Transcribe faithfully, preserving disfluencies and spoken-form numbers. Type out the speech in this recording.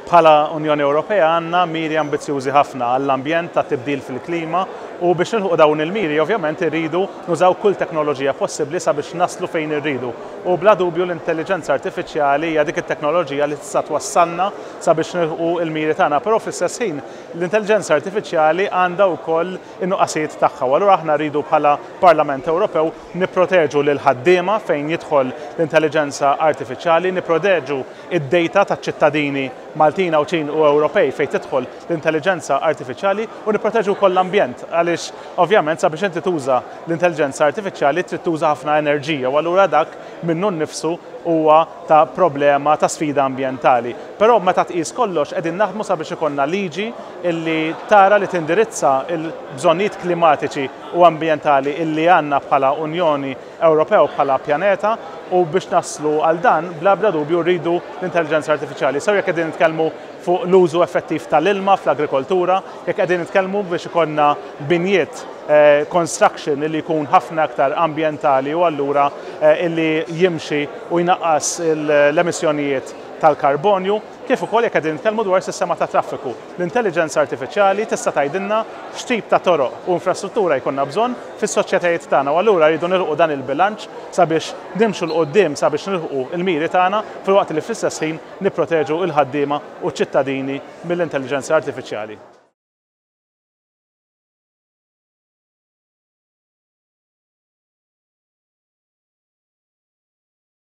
Bħala Unjoni Ewropea għandna miri ambizzjużi ħafna għall-ambjent, ta' tibdil fil-klima, u biex nilħu dawn il-miri ovvjament irridu nużaw kull teknoloġija possibbli sabiex naslu fejn irridu. U bla dubju l-intelligenza artifiċjali hija dik it-teknoloġija li tista' twassalna sabiex nilħu il-miri tagħna, però fl-istess ħin l-intelligenza artifiċjali għandha wkoll in-nuqqasijiet tagħha. U allura aħna rridu bħala Parlament Ewropew nipproteġu lil ħaddiema fejn jidħol l-intelligenza artifiċjali, nipproteġu id-data taċ-ċittadini Maltin, Għawdxin u Ewropej fejn tidħol l-intelligenza artifiċjali u nipproteġu wkoll l-ambjent, għaliex ovvjament sabiex inti tuża l-intelligenza artifiċjali trid tuża ħafna enerġija u allura dak minnu nnifsu huwa ta' problema, ta' sfida ambjentali. Però meta tqis kollox, qegħdin naħdmu sabiex ikollna liġi illi tara li tindirizza l-bżonnijiet klimatiċi u ambjentali illi għandna bħala Unjoni Ewropea u bħala pjaneta, u biex naslu għal dan bla bla dubju rridu l-intelligenza artifiċjali. Sew jekk qegħdin nitkellmu fuq l-użu effettiv tal-ilma fl-agrikoltura, jekk qegħdin nitkellmu biex ikollna binjiet, eh, construction illi jkun ħafna aktar ambjentali u allura eh, illi jimxi u jnaqqas l-emissjonijiet tal-karbonju, kif ukoll jekk qegħdin nitkellmu dwar sistema ta' traffiku. L-intelligenza artifiċjali tista' tgħidilna x'tip ta' toroq u infrastruttura jkollna bżonn fis-soċjetajiet tagħna, u allura rridu nilħqu dan il-bilanċ sabiex nimxu 'l quddiem, sabiex nilħqu il-miri tagħna filwaqt li fl-istess ħin nipproteġu l-ħaddiema u ċ-ċittadini mill-intelligenza artifiċjali.